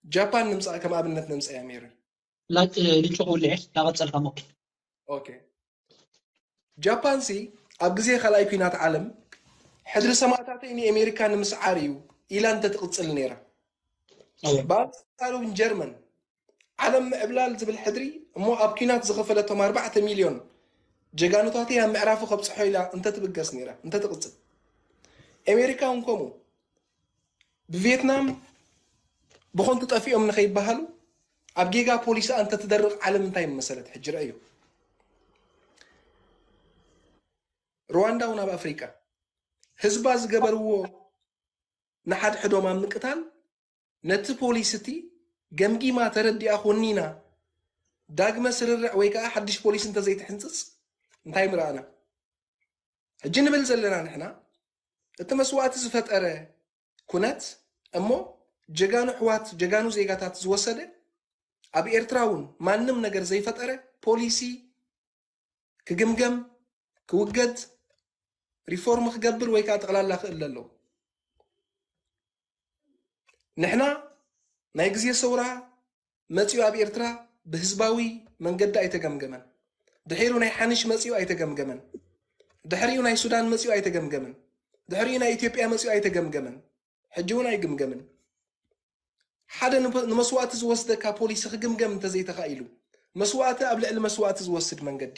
ጃፓን ንምፃእ ከም ኣብነት ነምፀያ ሜሪ። ልጭ ክውልዕ ዳቐፀልካ ሞክ ኦኬ ጃፓን ሲ ኣብ ግዜ ካልኣይ ኩናት ዓለም ሕድሪ ሰማእታተይ ንኤሜሪካ ንምስዓር እዩ ኢላ እንተትቕፅል ነይራ። ብኣንፃሩ እውን ጀርመን ዓለም ምዕብላል ዝብል ሕድሪ እሞ ኣብ ኲናት ዝኸፈለቶም ኣርባዕተ ሚልዮን ጀጋኑታተይ ኣብ ምዕራፉ ከብፅሖ ኢላ እንተትብገስ ነይራ እንተትቕፅል፣ ኣሜሪካ እውን ከምኡ ብቪየትናም ብኾንቱ ጠፊኦም ንኸይበሃሉ ኣብ ጌጋ ፖሊሲኣ እንተትደርቕ ዓለም እንታይ ምመሰለት? ሕጂ ረእዮ። ሩዋንዳ እውን ኣብ ኣፍሪቃ ህዝባ ዝገበርዎ ንሓድሕዶም ኣብ ምቅታል ነቲ ፖሊሲ እቲ ገምጊማ ተረዲኣ ኮኒና ዳግመ ስርርዕ ወይ ከዓ ሓድሽ ፖሊሲ እንተዘይትሕንፅፅ እንታይ ምረኣና? ሕጂ ንብል ዘለና ንሕና እቲ መስዋእቲ ዝፈጠረ ኩነት እሞ ጀጋኑ ኣሕዋት ጀጋኑ ዜጋታት ዝወሰደ ኣብ ኤርትራ እውን ማንም ነገር ዘይፈጠረ ፖሊሲ ክግምገም ክውገድ ሪፎርም ክገብር ወይ ከዓ ጠቕላላ ክእል ኣለዎ። ንሕና ናይ ግዜ ሰውራ መፂኡ ኣብ ኤርትራ ብህዝባዊ መንገዲ ኣይተገምገመን። ድሒሩ ናይ ሓንሽ መፂኡ ኣይተገምገመን። ድሕሪኡ ናይ ሱዳን መፂኡ ኣይተገምገመን። ድሕሪኡ ናይ ኢትዮጵያ መፂኡ ኣይተገምገመን። ሕጂ እውን ኣይግምገምን። ሓደ ንመስዋእቲ ዝወስደካ ፖሊሲ ክግምገም እንተዘይተኻኢሉ መስዋእቲ ኣብ ልዕሊ መስዋእቲ ዝወስድ መንገዲ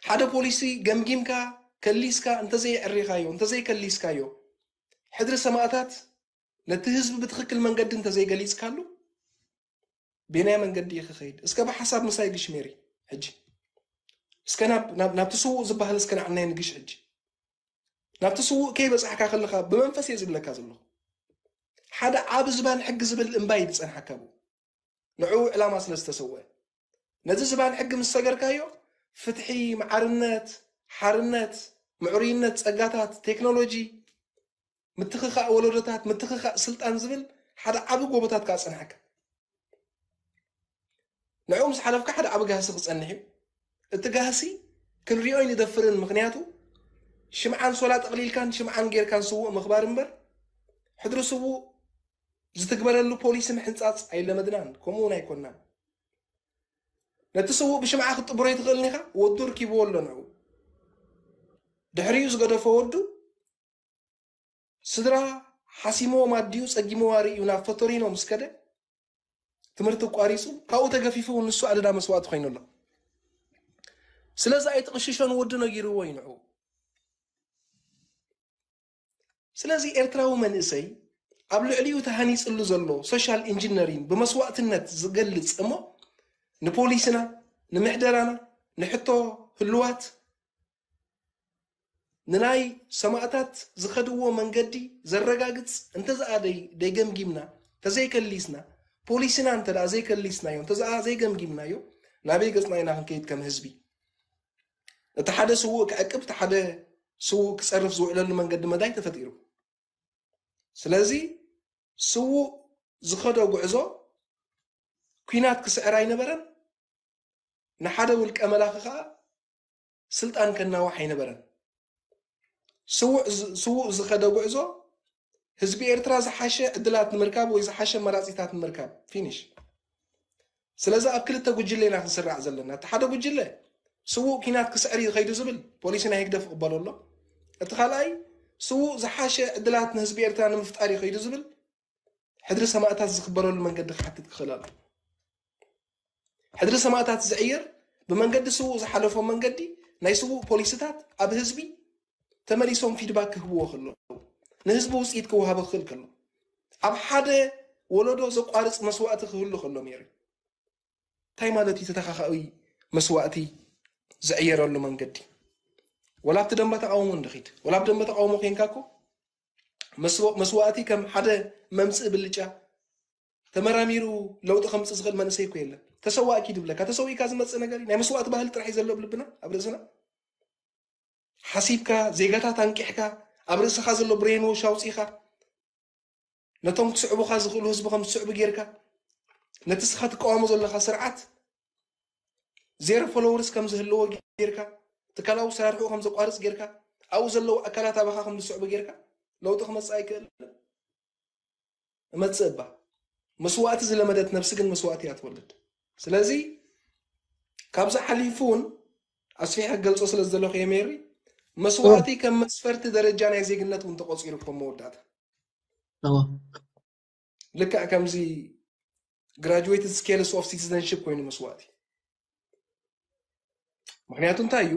ሓደ ፖሊሲ ገምጊምካ ከሊስካ እንተዘይዕሪኻዮ እንተዘይከሊስካዮ ሕድሪ ሰማእታት ነቲ ህዝቢ ብትኽክል መንገዲ እንተዘይገሊፅካሉ ቤናይ መንገዲ እዩ ክኸይድ? እስከ ብሓሳብ ምሳይ ግሽ ሜሪ። ሕጂ እስከ ናብቲ ስዉእ ዝበሃል እስከ ንዓናይ ንግሽ። ሕጂ ናብቲ ስዉእ ከይበፃሕካ ከለኻ ብመንፈስ እየ ዝብለካ ዘለኹ። ሓደ ዓብ ዝባን ሕጊ ዝብል እምባ እዩ ዝፀንሓካ ብኡ ንዕኡ ዕላማ ስለ ዝተሰወአ ነዚ ዝባን ሕጊ ምስ ሰገርካዮ ፍትሒ፣ መዓርነት፣ ሓርነት፣ ምዕሩይነት፣ ፀጋታት፣ ቴክኖሎጂ፣ ምትኽኻእ ወለዶታት፣ ምትኽኻእ ስልጣን ዝብል ሓደ ዓቢ ጎቦታት ከዓ ፀንሓካ። ንዕኡ ምስ ሓለፍካ ሓደ ዓቢ ጋህሲ ክፀንሕ እዩ። እቲ ጋህሲ ክንሪኦ ኣይንደፍርን፣ ምኽንያቱ ሽምዓን ሶላ ጠቕሊልካን ሽምዓን ጌርካን ስዉእ ምኽባር እምበር ሕድሪ ስዉእ ዝትግበረሉ ፖሊሲ ምሕንፃፅ ኣይለመድናን፣ ከምኡ እውን ኣይኮንናን። ነቲ ስዉእ ብሽምዓ ክትጥብሮ ኣይትኽእልን ኢኻ። ወዱ ርኪብዎ ኣሎ ንዕኡ። ድሕሪኡ ዝገደፎ ወዱ ስድራ ሓሲምዎም ኣዲኡ ጸጊምዋ ርእዩ ናብ ፈቶሪኖ ምስ ከደ ትምህርቲ ኣቋሪጹ ካብኡ ተገፊፉ እውን ንሱ ኣደዳ መስዋእቲ ኮይኑ ኣሎ። ስለዚ ኣይትቕሽሾ ንወዱ ነጊርዎ እዩ ንዕኡ። ስለዚ ኤርትራዊ መንእሰይ ኣብ ልዕሊኡ ተሃኒጽሉ ዘሎ ሶሻል ኢንጂነሪን ብመስዋእትነት ዝገልጽ እሞ ንፖሊስና ንምሕደራና ንሕቶ ህልዋት ንናይ ሰማእታት ዝኸድዎ መንገዲ ዘረጋግጽ እንተዝኣ ደይገምጊምና ተዘይከሊስና ፖሊስና እንተ ዘይከሊስናዮ እንተዝኣ ዘይገምጊምናዮ ናበይ ገጽና ኢና ክንከይድ ከም ህዝቢ? እቲ ሓደ ስዉእ ክዕቅብ እቲ ሓደ ስዉእ ክጸርፍ ዝውዕለሉ መንገዲ መዳይ ተፈጢሩ። ስለዚ ስዉእ ዝኸዶ ጉዕዞ ኲናት ክስዕር ኣይነበረን። ንሓደ ውልቀ መላኺ ከኣ ስልጣን ከናዋሕ ኣይነበረን። ስዉእ ዝኸደ ጉዕዞ ህዝቢ ኤርትራ ዝሓሸ ዕድላት ንምርካብ ወይ ዝሓሸ መራጺታት ንምርካብ ፊኒሽ። ስለዚ ኣብ ክልተ ጉጅለ ኢና ክንስራዕ ዘለና። እቲ ሓደ ጉጅለ ስዉእ ኲናት ክስዕር እዩ ከይዱ ዝብል ፖሊሲ ናይ ህግደፍ ይቕበሎ ኣሎ። እቲ ካልኣይ ስዉእ ዝሓሸ ዕድላት ንህዝቢ ኤርትራ ንምፍጣር እዩ ከይዱ ዝብል ሕድሪ ሰማእታት ዝኽበረሉ መንገዲ ክሓትት ክኽእል ኣሎ። ሕድሪ ሰማእታት ዝዕየር ብመንገዲ ስዉእ ዝሓለፎ መንገዲ ናይ ስዉእ ፖሊስታት ኣብ ህዝቢ ተመሊሶም ፊድባክ ክህብዎ ከለዉ ንህዝቢ ውፅኢት ክወሃቦ ክኽእል ከሎ ኣብ ሓደ ወለዶ ዘቋርፅ መስዋእቲ ክህሉ ከሎ ሜሪ እንታይ ማለት እዩ? ተተኻኻዊ መስዋእቲ ዝዕየረሉ መንገዲ ወላ ኣብቲ ደንበ ተቃውሞ እንድኺድ ወላ ኣብ ደንበ ተቃውሞ ኮንካ እኮ መስዋእቲ ከም ሓደ መምፅኢ ብልጫ ተመራሚሩ ለውጢ ከምፅእ ዝኽእል መንእሰይ እኮ የለን። ተሰዋእኪ ድብለካ ተሰዊእካ ዝመፅእ ነገር እዩ። ናይ መስዋእቲ ባህሊ ጥራሕ እዩ ዘሎ ኣብ ልብና ኣብ ርእስና። ሓሲብካ ዜጋታት ኣንቂሕካ ኣብ ርእስኻ ዘሎ ብሬን ዎሽ ኣውፂእካ ነቶም ክስዕቡኻ ዝኽእሉ ህዝቢ ከም ዝስዕቡ ጌርካ ነቲ ስኻ ትቃወሞ ዘለኻ ስርዓት ዜሮ ፎሎወርስ ከም ዝህልዎ ጌርካ ትካላዊ ሰራርሕኡ ከም ዘቋርፅ ጌርካ ኣብኡ ዘለዉ ኣካላት ኣባኻ ከም ዝስዕቡ ጌርካ ለውጢ ክመፅእ ኣይክእልን። እመፅእ እባ መስዋእቲ ዝለመደት ነብሲ ግን መስዋእቲ እያ ትወልድ። ስለዚ ካብዚ ሓሊፉ እውን ኣስፊሐ ክገልፆ ስለ ዝደለኹ የሜሪ መስዋእቲ ከም መስፈርቲ ደረጃ ናይ ዜግነት እውን ተቆፂሩ ከም መወዳእታ ልክዕ ከምዚ graduated scales of citizenship ኮይኑ መስዋእቲ ምክንያቱ እንታይ እዩ?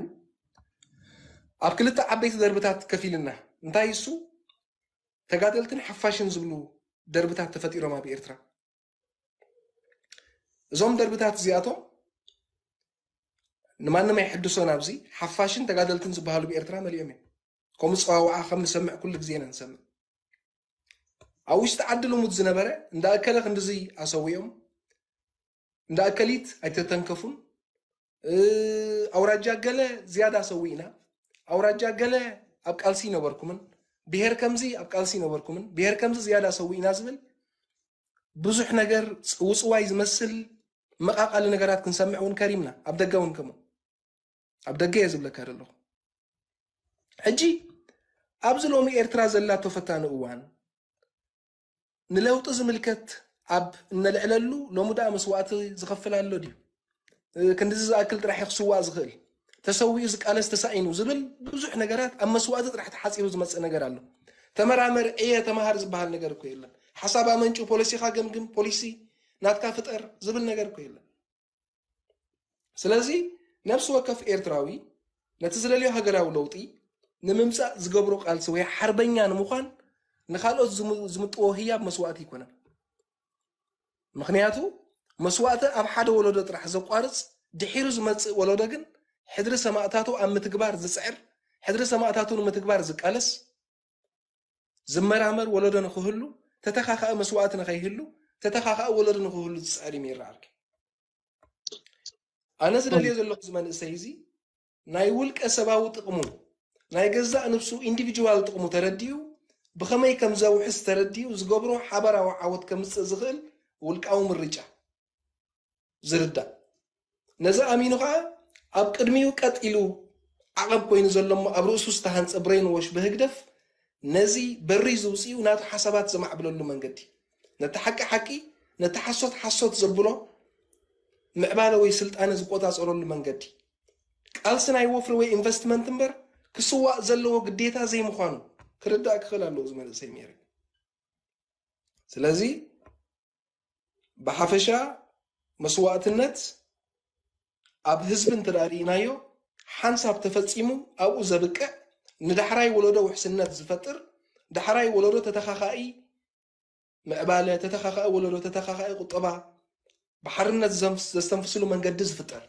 ኣብ ክልተ ዓበይቲ ደርብታት ከፊልና። እንታይ እሱ? ተጋደልትን ሓፋሽን ዝብሉ ደርብታት ተፈጢሮም ኣብ ኤርትራ። እዞም ደርብታት እዚኣቶም ንማንም ኣይሕድሶን። ኣብዚ ሓፋሽን ተጋደልትን ዝበሃሉ ብኤርትራ መሊኦም እዮም። ከምኡ ፀዋውዓ ከም ንሰምዕ ኩሉ ግዜ ኢና ንሰምዕ። ኣብ ውሽጢ ዓዲ ልሙድ ዝነበረ እንዳ እከለ ክንድዚ ኣሰዊኦም፣ እንዳ እከሊት ኣይተተንከፉን፣ ኣውራጃ ገለ ዝያዳ ሰዊእና፣ ኣውራጃ ገለ ኣብ ቃልሲ ይነበርኩምን፣ ብሄር ከምዚ ኣብ ቃልሲ ይነበርኩምን፣ ብሄር ከምዚ ዝያዳ ሰዊእና ዝብል ብዙሕ ነገር ውፅዋይ ዝመስል መቃቃሊ ነገራት ክንሰምዕ እውን ከሪምና። ኣብ ደገ እውን ከምኡ። ኣብ ደገ እየ ዝብለካ ዘለኹ። ሕጂ ኣብዚ ሎሚ ኤርትራ ዘላቶ ፈታኒ እዋን ንለውጢ ዝምልከት ኣብ እነልዕለሉ ሎሚ ደኣ መስዋእቲ ዝኸፍል ኣሎ ድዩ? ክንድዚ ዝኣክል ጥራሕ ክስዋእ ዝኽእል፣ ተሰዊኡ ዝቃለስ ተሳኢኑ ዝብል ብዙሕ ነገራት ኣብ መስዋእቲ ጥራሕ ተሓፂሩ ዝመፅእ ነገር ኣሎ። ተመራመር፣ ዕየ፣ ተመሃር ዝበሃል ነገር እኮ የለን። ሓሳብ ኣመንጩ፣ ፖሊሲኻ ገምግም፣ ፖሊሲ ናትካ ፍጠር ዝብል ነገር እኮ የለን። ስለዚ ነፍሲ ወከፍ ኤርትራዊ ነቲ ዝደልዮ ሃገራዊ ለውጢ ንምምፃእ ዝገብሮ ቃልሲ ወይ ሓርበኛ ንምዃን ንካልኦት ዝምጥዎ ህያብ መስዋእቲ ኣይኮነን። ምክንያቱ መስዋእቲ ኣብ ሓደ ወለዶ ጥራሕ ዘቋርፅ፣ ድሒሩ ዝመፅእ ወለዶ ግን ሕድሪ ሰማእታቱ ኣብ ምትግባር ዝፅዕር፣ ሕድሪ ሰማእታቱ ንምትግባር ዝቃለስ፣ ዝመራመር ወለዶ ንክህሉ፣ ተተኻኻኢ መስዋእቲ ንከይህሉ፣ ተተኻኻኢ ወለዶ ንክህሉ ዝፅዕር እዩ ይረኣልኪ። ኣነ ዝደልዮ ዘለኹ እዚ መንእሰይ እዚ ናይ ውልቀ ሰባዊ ጥቕሙ፣ ናይ ገዛእ ንብሱ ኢንዲቪጁዋል ጥቕሙ ተረዲኡ፣ ብኸመይ ከም ዘውሕስ ተረዲኡ ዝገብሮ ሓበራዊ ዓወት ከምፅእ ዝኽእል ውልቃዊ ምርጫ ዝርዳእ። ነዚ ኣሚኑ ኸዓ ኣብ ቅድሚኡ ቀጥ ኢሉ ዓቐብ ኮይኑ ዘሎ እሞ ኣብ ርእሱ ዝተሃንፀ ብሬን ዎሽ ብህግደፍ ነዚ በሪ ዝውፅኡ ናቱ ሓሳባት ዘማዕብለሉ መንገዲ፣ ነቲ ሓቂ ሓቂ፣ ነቲ ሓሶት ሓሶት ዘብሎ ምዕባለ ወይ ስልጣነ ዝቆፃፀረሉ መንገዲ፣ ቃልሲ ናይ ወፍሪ ወይ ኢንቨስትመንት እምበር ክስዋእ ዘለዎ ግዴታ ዘይምዃኑ ክርዳእ ክኽእል ኣለዎ እዚ መንእሰይ ሜሪ። ስለዚ ብሓፈሻ መስዋእትነት ኣብ ህዝቢ እንተ ደኣ ርኢናዮ ሓንሳብ ተፈጺሙ ኣብኡ ዘብቅዕ፣ ንዳሕራይ ወለዶ ውሕስነት ዝፈጥር፣ ዳሕራይ ወለዶ ተተኻኻኢ ምዕባለ፣ ተተኻኻኢ ወለዶ፣ ተተኻኻኢ ቁጠባ ብሓርነት ዘስተንፍስሉ መንገዲ ዝፍጠር።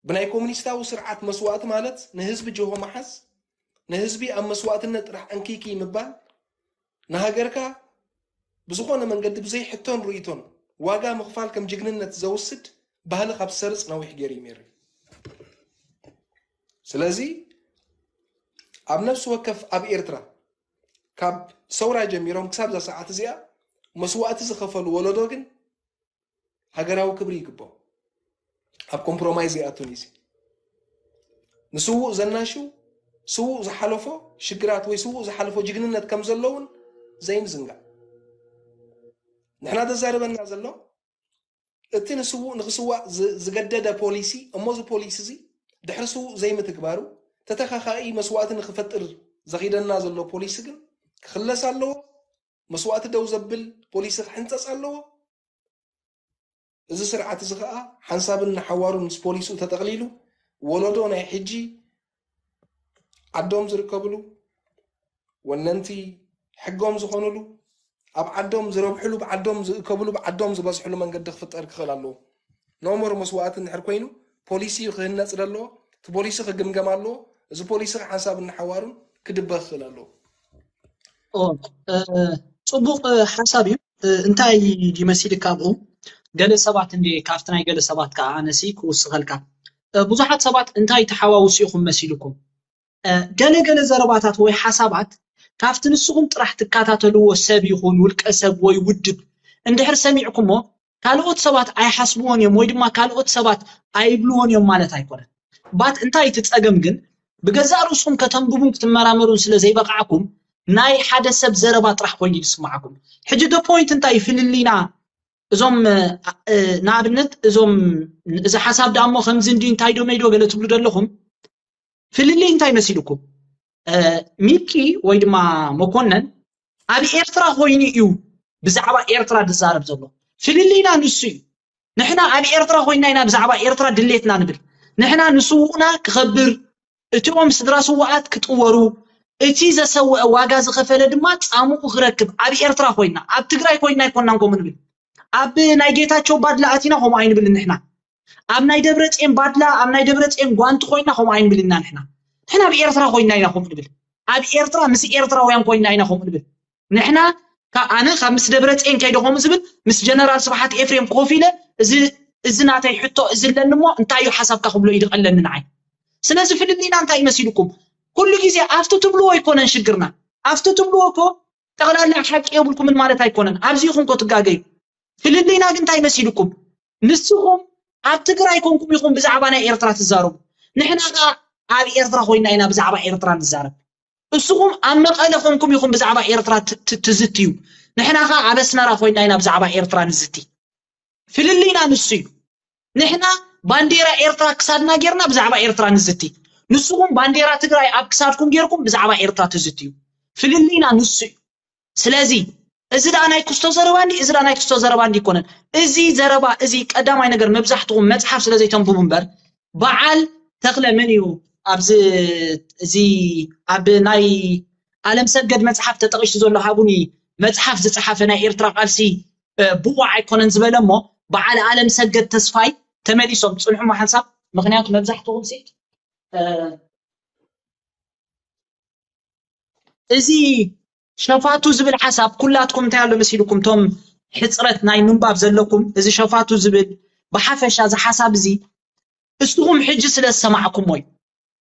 ብናይ ኮሙኒስታዊ ስርዓት መስዋእቲ ማለት ንህዝቢ ጅሆ ምሓዝ፣ ንህዝቢ ኣብ መስዋእትነት ጥራሕ ዕንክይክይ ምባል፣ ንሃገርካ ብዝኾነ መንገዲ ብዘይ ሕቶን ርእይቶን ዋጋ ምኽፋል ከም ጅግንነት ዘውስድ ባህሊ ካብ ዝሰርጽ ነዊሕ ገይሩ እዩ ሜሪ። ስለዚ ኣብ ነፍሲ ወከፍ ኣብ ኤርትራ ካብ ሰውራ ጀሚሮም ክሳብ እዛ ሰዓት እዚኣ መስዋእቲ ዝኸፈሉ ወለዶ ግን ሃገራዊ ክብሪ ይግብኦ። ኣብ ኮምፕሮማይዝ ይኣቱን እዩ። ንስዉእ ዘናሹ ስዉእ ዝሓለፎ ሽግራት ወይ ስዉእ ዝሓለፎ ጅግንነት ከም ዘለውን ዘይምዝንጋዕ። ንሕና ዘዛርበና ዘሎ እቲ ንስዉእ ንክስዋእ ዝገደደ ፖሊሲ እሞ እዚ ፖሊሲ እዚ ድሕሪ ስዉእ ዘይምትግባሩ ተተኻኻኢ መስዋእቲ ንክፈጥር ዘኺደና ዘሎ ፖሊሲ ግን ክኽለስ ኣለዎ። መስዋእቲ ደው ዘብል ፖሊሲ ክሕንፀፅ ኣለዎ። እዚ ስርዓት እዚ ከዓ ሓንሳብን ንሓዋሩን ምስ ፖሊስኡ ተጠቕሊሉ ወለዶ ናይ ሕጂ ዓዶም ዝርከብሉ ወነንቲ ሕጎም ዝኾኑሉ ኣብ ዓዶም ዝረብሕሉ ብዓዶም ዝእከብሉ ብዓዶም ዝበዝሕሉ መንገዲ ክፍጠር ክኽእል ኣለዎ። ኖሞር መስዋእቲ እንድሕር ኮይኑ ፖሊሲ እዩ ክህነፅ ዘለዎ። እቲ ፖሊሲ ክግምገም ኣለዎ። እዚ ፖሊሲ ሓንሳብ እናሓዋሩን ክድበ ክኽእል ኣለዎ። ጽቡቕ ሓሳብ እዩ። እንታይ ይመስል ካብኡ ገለ ሰባት እንደ ካብቲ ናይ ገለ ሰባት ከዓ ኣነሲ ክውስኸልካ ብዙሓት ሰባት እንታይ ተሓዋውሱ ኢኹም መሲልኩም ገለ ገለ ዘረባታት ወይ ሓሳባት ካብቲ ንስኹም ጥራሕ ትከታተልዎ ሰብ ይኹን ውልቀ ሰብ ወይ ውድብ እንድሕር ሰሚዕኩሞ ካልኦት ሰባት ኣይሓስብዎን እዮም ወይ ድማ ካልኦት ሰባት ኣይብልዎን እዮም ማለት ኣይኮነን። ባት እንታይ እቲ ጸገም ግን ብገዛእ ርእስኹም ከተንብቡን ክትመራመሩን ስለ ዘይበቃዕኩም ናይ ሓደ ሰብ ዘረባ ጥራሕ ኮይኑ ይስማዓኩም። ሕጂ the point እንታይ ፍልልይና እዞም ንኣብነት እዞም እዚ ሓሳብ ደኣ እሞ ከምዚ እንዲ እንታይ ዶ መይዶ ገለ ትብሉ ዘለኹም ፍልልይ እንታይ መሲልኩም? ሚኪ ወይ ድማ መኮነን ኣብ ኤርትራ ኮይኑ እዩ ብዛዕባ ኤርትራ ዝዛረብ ዘሎ። ፍልልይና ንሱ እዩ። ንሕና ኣብ ኤርትራ ኮይና ኢና ብዛዕባ ኤርትራ ድሌትና ንብል። ንሕና ንስውኡና ክኸብር፣ እቲኦም ስድራ ስውኣት ክጥወሩ፣ እቲ ዘሰወአ ዋጋ ዝኸፈለ ድማ ጻምኡ ክረክብ። ኣብ ኤርትራ ኮይና፣ ኣብ ትግራይ ኮይና ኣይኮናን ከምኡ ንብል። ኣብ ናይ ጌታቸው ባድላ ኣቲና ከምኡ ኣይንብልን ንሕና። ኣብ ናይ ደብረጽዮን ባድላ፣ ኣብ ናይ ደብረጽዮን ጓንቲ ኮይና ከምኡ ኣይንብልና ንሕና። ንሕና ኣብ ኤርትራ ኮይና ኢና ከምኡ ንብል። ኣብ ኤርትራ ምስ ኤርትራውያን ኮይና ኢና ከምኡ ንብል። ንሕና ካብ ኣነ ካብ ምስ ደብረጽዮን ከይደ ከምኡ ዝብል ምስ ጀነራል ስብሓት ኤፍሬም ኮፍ ኢለ እዚ እዚ ናተይ ሕቶ እዚ ኣለኒ እሞ እንታይ እዩ ሓሳብካ ክብሎ እዩ ዝቐለኒ ንዓይ። ስለዚ ፍልልይና እንታይ ይመሲልኩም? ኩሉ ግዜ ኣብቲ ትብልዎ ኣይኮነን ሽግርና። ኣብቲ ትብልዎ እኮ ጠቕላላ ሓቂ የብልኩምን ማለት ኣይኮነን። ኣብዚ ይኹን እኮ ትጋገዩ። ፍልልይና ግን እንታይ መሲልኩም? ንስኹም ኣብ ትግራይ ኮንኩም ኢኹም ብዛዕባ ናይ ኤርትራ ትዛረቡ። ንሕና ከኣ ኣብ ኤርትራ ኮይና ኢና ብዛዕባ ኤርትራ ንዛረብ። እስኹም ኣብ መቐለ ኮንኩም ኢኹም ብዛዕባ ኤርትራ ት- ት- ትዝትዩ። ንሕና ከኣ ኣብ ኣስመራ ኮይና ኢና ብዛዕባ ኤርትራ ንዝቲ። ፍልልይና ንሱ እዩ። ንሕና ባንዴራ ኤርትራ ክሳድና ጌርና ብዛዕባ ኤርትራ ንዝቲ። ንስኹም ባንዴራ ትግራይ ኣብ ክሳድኩም ጌርኩም ብዛዕባ ኤርትራ ትዝትዩ። ፍልልይና ንሱ እዩ። ስለዚ እዚ ደኣ ናይ ክስቶ ዘረባ እንዲ፣ እዚ ደኣ ናይ ክስቶ ዘረባ እንዲ ይኮነን። እዚ ዘረባ እዚ ቀዳማይ ነገር መብዛሕትኹም መጽሓፍ ስለ ዘይተንብቡ እምበር በዓል ተኽለ መን እዩ ኣብዚ እዚ ኣብ ናይ ኣለም ሰገድ መጽሓፍ ተጠቒሱ ዘሎ ሃቡኒ መጽሓፍ ዝጸሓፈ ናይ ኤርትራ ቃልሲ እ፣ ብዋዕ ኣይኮነን ዝበለ እሞ በዓል ኣለም ሰገድ ተስፋይ ተመሊሶም ጽንሑ ሓንሳብ ምክንያቱ መብዛሕትኹም ሲ እ፣ እዚ ሸፋቱ ዝብል ሓሳብ ኩላትኩም እንታይ ኣሎ መሲልኩም ቶም ሕፅረት ናይ ምንባብ ዘለኩም እዚ ሸፋቱ ዝብል ብሓፈሻ እዚ ሓሳብ እዚ እስኹም ሕጂ ስለ ዝሰማዕኩሞ እዩ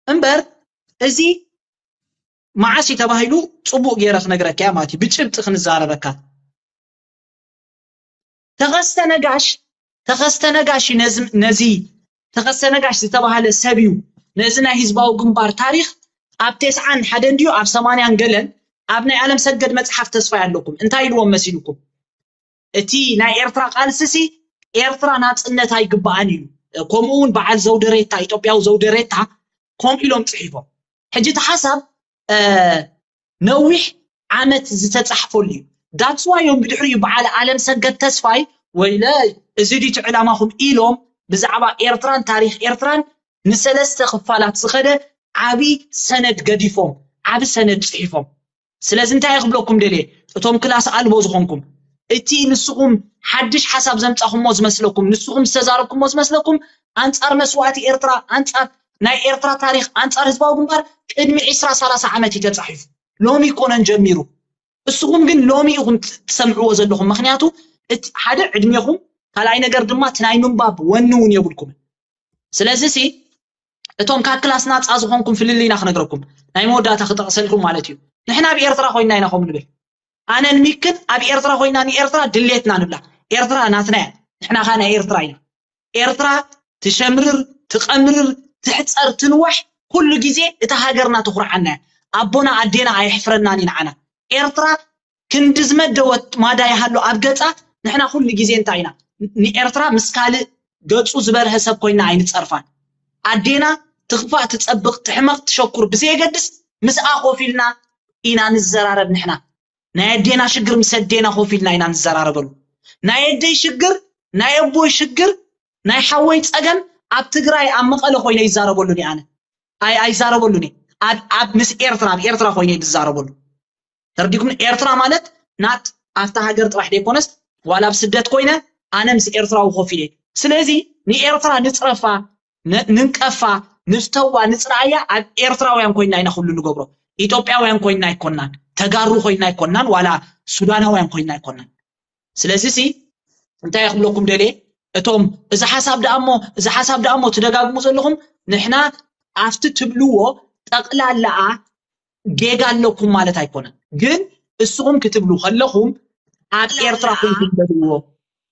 እምበር እዚ መዓስ እዩ ተባሂሉ ፅቡቅ ገይረ ክነግረካ እያ ማለት እዩ ብጭብጢ ክንዛረበካ ተኸስተ ነጋሽ ተኸስተ ነጋሽ እዩ ነዚ ነዚ ተኸስተ ነጋሽ ዝተባሃለ ሰብ እዩ ነዚ ናይ ህዝባዊ ግንባር ታሪኽ ኣብ ቴስዓን ሓደን ድዩ ኣብ ሰማንያን ገለን ኣብ ናይ ኣለም ሰገድ መጽሓፍ ተስፋ ኣለኩም እንታይ ኢልዎም መሲልኩም እቲ ናይ ኤርትራ ቃልስሲ ኤርትራ ናጽነት ኣይግባኣን እዩ ከምኡ እውን በዓል ዘውደሬታ ኢትዮጵያዊ ዘውደሬታ ከምኡ ኢሎም ጽሒፎም ሕጂ እቲ ሓሳብ ነዊሕ ዓመት ዝተጻሕፈሉ እዩ that's why እዮም ብድሕሪኡ በዓል ኣለም ሰገድ ተስፋይ ወይለ እዚ ድዩ ዕላማኹም ኢሎም ብዛዕባ ኤርትራን ታሪኽ ኤርትራን ንሰለስተ ክፋላት ዝኸደ ዓቢ ሰነድ ገዲፎም ዓቢ ሰነድ ጽሒፎም ስለዚ እንታይ ክብለኩም ደልየ እቶም ክላስ ኣልቦ ዝኾንኩም እቲ ንስኹም ሓድሽ ሓሳብ ዘምጻኹሞ ዝመስለኩም ንስኹም ዝተዛረብኩሞ ዝመስለኩም ኣንጻር መስዋእቲ ኤርትራ ኣንጻር ናይ ኤርትራ ታሪኽ ኣንጻር ህዝባዊ ግንባር ቅድሚ ዕስራ ሰላሳ ዓመት እዩ ተጻሒፉ ሎሚ ይኮነን ጀሚሩ እስኹም ግን ሎሚ ኢኹም ትሰምዕዎ ዘለኹም ምክንያቱ እቲ ሓደ ዕድሜኹም ካልኣይ ነገር ድማ እቲ ናይ ምንባብ ወኒ እውን የብልኩምን ስለዚ ሲ እቶም ካብ ክላስ ናፃ ዝኾንኩም ፍልልይና ክነግረኩም ናይ መወዳእታ ክጠቕሰልኩም ማለት እዩ ንሕና ኣብ ኤርትራ ኮይና ኢና ከም ንብል ኣነን ሚክን ኣብ ኤርትራ ኮይና ንኤርትራ ድሌትና ንብላ ኤርትራ ናትና እያ ንሕና ካ ናይ ኤርትራ ኢና ኤርትራ ትሸምርር ትቐምርር ትሕፀር ትንዋሕ ኩሉ ግዜ እታ ሃገርና ተኹርዓና እያ ኣቦና ኣዴና ኣየሕፍረናን እዩ ንዓና ኤርትራ ክንዲ ዝመደወት ማዳ ይሃሉ ኣብ ገጻ ንሕና ኩሉ ግዜ እንታይ ኢና ንኤርትራ ምስ ካልእ ገጹ ዝበርሀ ሰብ ኮይና ኣይንጸርፋን ኣዴና ትኽፋእ ትጸብቕ ትሕመቕ ትሸኩር ብዘየገድስ ምስኣ ኮፍ ኢልና ኢና ንዘራረብ ንሕና ናይ ኣዴና ሽግር ምስ ኣዴና ኮፍ ኢልና ኢና ንዘራረበሉ ናይ ኣደይ ሽግር ናይ ኣቦይ ሽግር ናይ ሓወይ ጸገም ኣብ ትግራይ ኣብ መቐለ ኮይነ ይዛረበሉ ኣነ ኣይ ኣይዛረበሉን ኣብ ኣብ ምስ ኤርትራ ኣብ ኤርትራ ኮይነ ዝዛረበሉ ተርዲኩም ኤርትራ ማለት ናት ኣብታ ሃገር ጥራሕ ዘይኮነስ ዋላ ኣብ ስደት ኮይነ ኣነ ምስ ኤርትራዊ ኮፍ ኢለ ስለዚ ንኤርትራ ንጽረፋ ንንቀፋ ንፍተዋ ንጽራያ ኣብ ኤርትራውያን ኮይና ኢና ኩሉ ንገብሮ ኢትዮጵያውያን ኮይና ኣይኮናን ተጋሩ ኮይና ኣይኮናን ዋላ ሱዳናውያን ኮይና ኣይኮናን ስለዚ ሲ እንታይ ክብለኩም ደልየ እቶም እዚ ሓሳብ ደኣ እሞ እዚ ሓሳብ ደኣ እሞ ትደጋግሙ ዘለኹም ንሕና ኣብቲ ትብልዎ ጠቕላላኣ ጌጋ ኣለኩም ማለት ኣይኮነን ግን እስኹም ክትብሉ ከለኹም ኣብ ኤርትራ ኩንኩም በልዎ